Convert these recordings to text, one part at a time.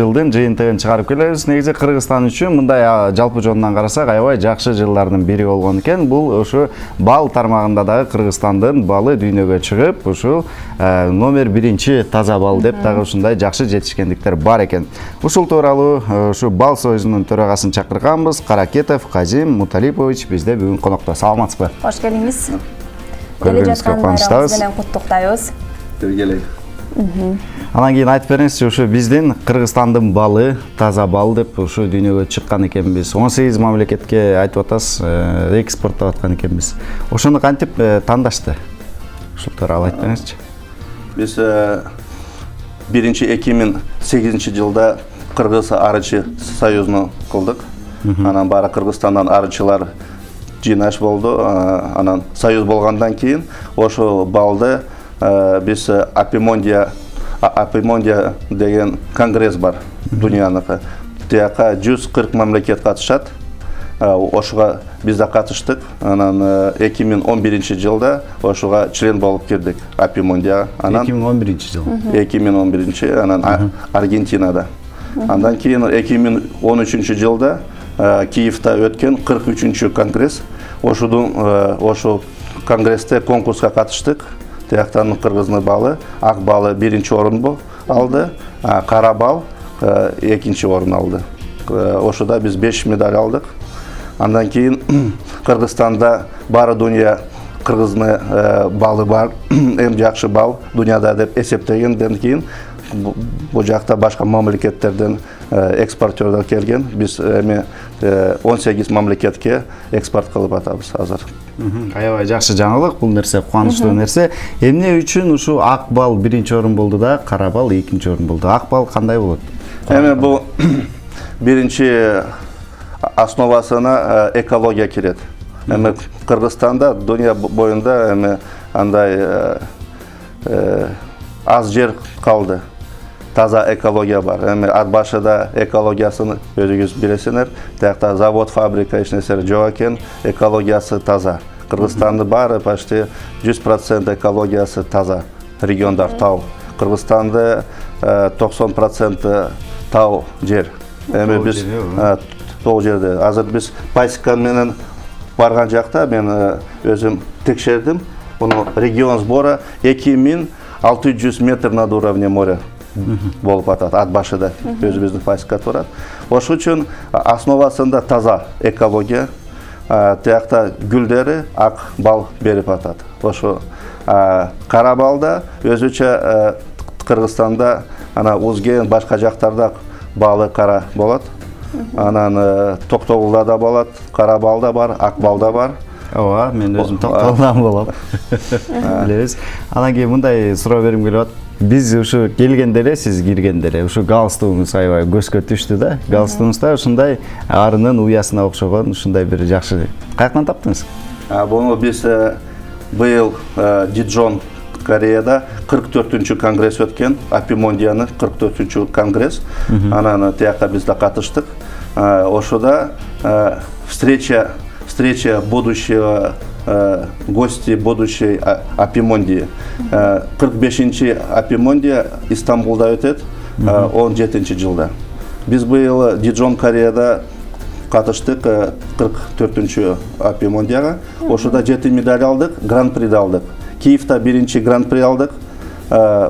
Жылдын жыйынтыгын чыгарып келебиз. Негизи Кыргызстан үчүн мындай жалпы жонунан карасак аябай жакшы жылдардын бири болгон экен. Бул ушу бал тармагында дагы Кыргызстандын балы дүйнөгө чыгып, ушул номер 1 таза бал деп дагы ушундай жакшы жетишкендиктер бар экен. Ушул тууралуу ушу бал союзунун төрагасын чакырганбыз. Каракетов Казим Муталипович бизде бүгүн конокто. Саламатсызбы? Кош келиңиз. Көргөнүңүзгө кубанычтабыз. Менен куттуктайбыз. Келек. Анан кийин айтып бериңизчи, ушу биздин Кыргызстандын балы таза бал деп ушу дүйнөгө чыккан экенбиз. 18 мамлекетке айтып атасыз, экспорттоп аткан экенбиз. Ошону кантип тандашты? Ушул тууралуу айтып бериңизчи. Биз 2008-жылда Кыргыз арычы союзуну кылдык. Анан баары Кыргызстандан арычылар жыйнаш болду. Анан союз болгондон кийин ошо балды биз Апимондия деген конгресс бар дүйнөнүкү. Тияка 140 мамлекет катышат. Ошого биз да катыштык. Анан 2011-жылда ошого член болуп кирдик Апимондияга. Анан 2011-жыл. 2011, анан Аргентинада. Андан кийин 2013-жылда Киевде өткөн 43-чү конгресс. Ошол конгрессте конкурска катыштык. Тияктан кыргыздын балы, ак балы 1-орун алды, кара бал 2-орун алды. Ошода биз 5 медаль алдык. Андан кийин Кыргызстанда баары дүйнө кыргыздын балы бар, эң жакшы бал дүйнөдө деп эсептегенден кийин бул жакта башка мамлекеттерден экспортёрлор келген. Биз эми 18 мамлекетке экспорт кылып атабыз азыр. Аябай жакшы жаңылык, бул нерсе кубанычтуу нерсе. Эмне үчүн ушу ак бал 1-орун болду да, кара бал 2-орун болду? Ак бал кандай болот? Эми бул биринчи основасына экология кирет. Эми Кыргызстанда дүйнө боюнда эми андай аз жер калды. Таза экология бар. Эми ат башыда экологиясын өзүңүз билесиңер. Тиякта завод, фабрика эч нерсе жок экен, экологиясы таза. Кыргызстандын баары почти 100% экологиясы таза. Региондар тау. Кыргызстанда 90% тау жер. Эми биз тоо жерде. Азыр биз Пайсика менен барган жакта мен өзүм текшердим. Муну регион сбора 2600 метр над уровнем моря болуп атат, ат башыда өзүбүздүн Пайсика турат. Ошол үчүн основасында таза экология. Тиякта гүлдери ак бал берип атат. Ошо кара балда өзүчө Кыргызстанда ана Узген башка жактарда балы кара болот. Анан Токтогулда да болот, кара бал да бар, ак бал да бар. Ооба, мен өзүм Токтогулдан болом. Билебиз. Анан кийин мындай суроо берим келип атат. Биз ушу келгенде эле, сиз киргенде эле ушу галстугуңуз аябай көзгө түштү да. Галстугуңузда ушундай арынын уясына окшогон ушундай бир жакшы. Каяктан таптыңыз? Буну биз быйыл Дижон Кореяда 44-чү конгресс өткөн, Апимондиянын 44-чү конгресс. Анан тияка биз да катыштык. Ошода встреча будущего гости будущей Апимондии. 45-чи Апимондия Истамбулда өтөт 17-жылда. Биз быйыл Дижон Кореяда катыштык 44-чү Апимондияга. Ошода 7 медаль алдык, гран-при алдык. Киевде 1-чи гран-при алдык.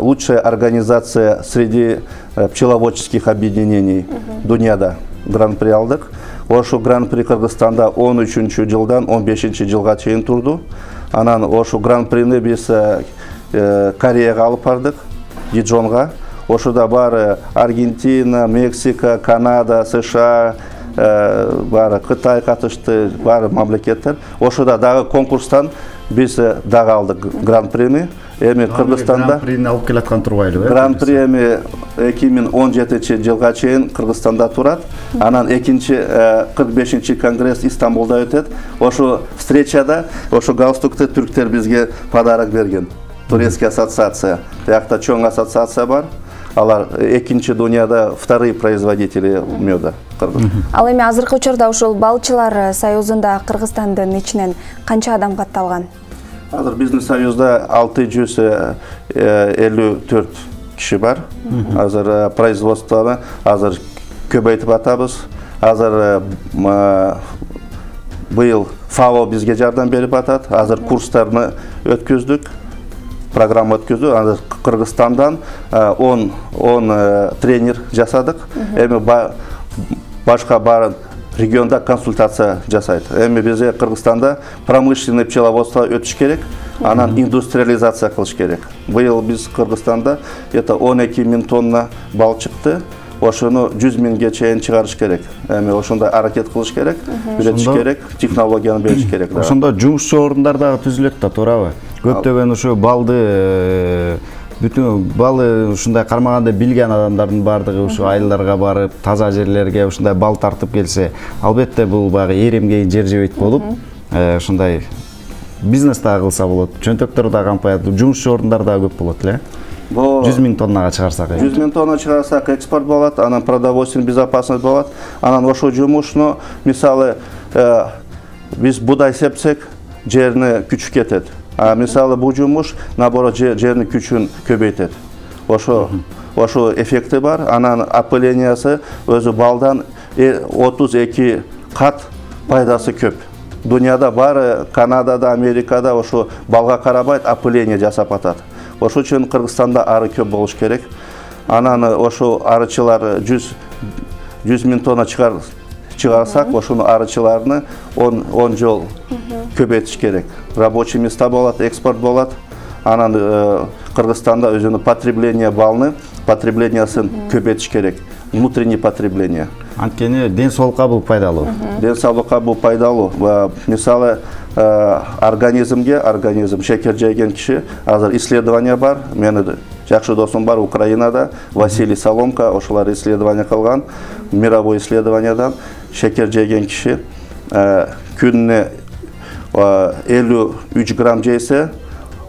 Лучшая организация среди пчеловодческих объединений дүйнөдө гран-при алдык. Ошо гран-при Кыргызстанда 13-жылдан 15-жылга чейин турду. Анан ошо гран-прини биз Кореяга алып бардык, Дижонга. Ошода баары Аргентина, Мексика, Канада, США, баары Кытай катышты, баары мамлекеттер. Ошода дагы конкурстан биз дагы алдык гран-прини. Эми Кыргызстанда гран-прини алып келаткан турбайлы. Гран-при эми 2017-жылга чейин Кыргызстанда турат. Анан 45-чи конгресс Истамбулда өтөт. Ошо встречада ошо галстукты түрктөр бизге подарок берген. Турецкий ассоциация. Тиякта чоң ассоциация бар. Алар экинчи дүйнөдө вторые производители меда. Ал эми азыркы учурда ушул балчылар союзунда Кыргызстандын ичинен канча адам катталган? Азыр биздин союзда 654 киши бар. Азыр производствоны азыр көбөйтүп атабыз. Азыр быйыл ФАО бизге жардам берип атат. Азыр курстарны өткөздүк. Программа өткөздүк. Азыр Кыргызстандан 10 тренер жасадык. Эми башка бар регионда консультация жасайт. Эми бизге Кыргызстанда промышленный пчеловодство өтүш керек, анан индустриализация кылыш керек. Быйыл биз Кыргызстанда 12 000 тонна бал чыкты. Ошону 100 000ге чейин чыгарыш керек. Эми ошондой аракет кылыш керек, үйрөтүш керек, технологияны бериш керек. Ошондо жумушчу орундар дагы түзүлөт да, туурабы? Көптөгөн ушу балды бүтүн балы ушундай кармаганда билген адамдардын бардыгы ушу айылдарга барып, таза жерлерге ушундай бал тартып келсе, албетте бул багы эремге жер жебейт болуп, ушундай бизнес дагы кылса болот, чөнтөктөр дагы кампаят, жумушчу орундар дагы көп болот эле. 100 000 тоннага чыгарсак, 100 000 тонна чыгарсак экспорт болот, анан продовольственный безопасность болот. Анан ошол жумушну, мисалы, биз будай сепсек, жерине күч кетет. А мисалы бул жумуш наоборот жердин күчүн көбөйтөт. Ошо эффекти бар. Анан опылениясы өзү балдан 32 кат пайдасы көп. Дүйнөдө бар, Канадада, Америкада ошо балга карабайт опыление жасап атат. Ошол үчүн Кыргызстанда ары көп болуш керек. Анан ошо арычылар 100 000 тонна чыгарсак, ошону арычыларны 10 жол көбөйтүш керек. Рабочий места болот, экспорт болот. Анан Кыргызстанда өзүнүн потреблениясын көбөйтүш керек. Внутреннее потребление. Анткени ден соолукка бул пайдалуу. Ден соолукка бул пайдалуу. Мисалы организм шекер жеген киши, азыр исследование бар. Менин жакшы досум бар Украинада, Василий Соломка, ошолар исследование кылган. Мировой исследованиядан шекер жеген киши күнүнө 53 грамм жейсе,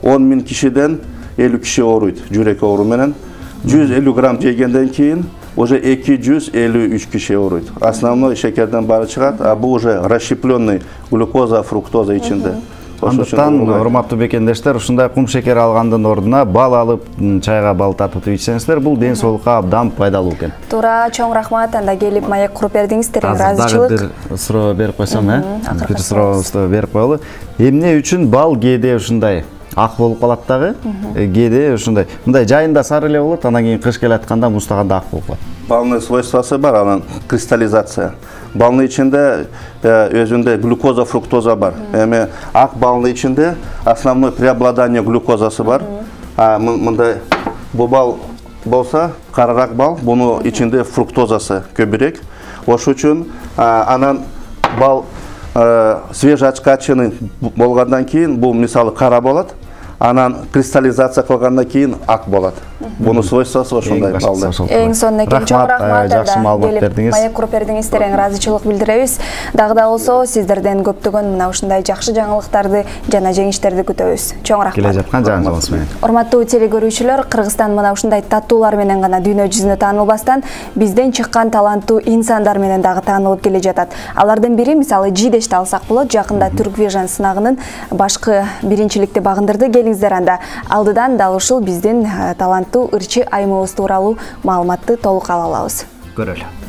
10 000 кишиден 50 киши ооруйт, жүрөк оору менен. 150 грамм жегенден кийин уже 253 киши ооруйт. Основной шекерден баары чыгат, а бул уже расщепленный глюкоза, фруктоза ичинде. Андыктан, урматтуу бекендештер, ушундай кум шекер алгандын ордуна бал алып, чайга бал тартып ичсеңиздер, бул ден соолукка абдан пайдалуу экен. Туура, чоң рахмат. Анда келип маек куруп бердиңиздер, ыраазычылык. Дагы бир суроо берип койсом, бир сурообузду берип коелу. Эмне үчүн бал кээде ушундай ак болуп калат дагы? Кээде ушундай, мындай жайында сары эле болот, анан кийин кыш келатканда муздаганда ак болуп калат. Балный свойствосы бар, анан кристаллизация. Балны ичинде өзүндө глюкоза, фруктоза бар. Эми ак балны ичинде основной преобладание глюкозасы бар. Мындай бул бал болсо, карараак бал, буну ичинде фруктозасы көбүрөөк. Ошол үчүн анан бал свежеочкаченный болгондон кийин бул мисалы кара болот. Анан кристаллизация кылгандан кийин ак болот. Буну свойствосу ошондой балда. Эң сонун экен, чоң рахмат. Жакшы маалымат бердиңиз. Маек куруп бердиңиздер, ыраазычылык билдиребиз. Дагы да болсо сиздерден көптөгөн мына ушундай жакшы жаңылыктарды жана жеңиштерди күтөбүз. Чоң рахмат. Келе жаткан жаңылыгыңыз менен. Урматтуу телекөрүүчүлөр, Кыргызстан мына ушундай таттуулар менен гана дүйнө жүзүнө таанылбастан, бизден чыккан таланттуу инсандар менен дагы таанылып келе жатат. Алардын бири мисалы Жидешти алсак болот, жакында Turk Vision сынагынын башкы биринчиликти багындырды. Келиңиздер, анда алдыдан дал ушул биздин таланттуу ырчы айымыбыз тууралуу маалыматты толук ала алабыз. Көрөлү.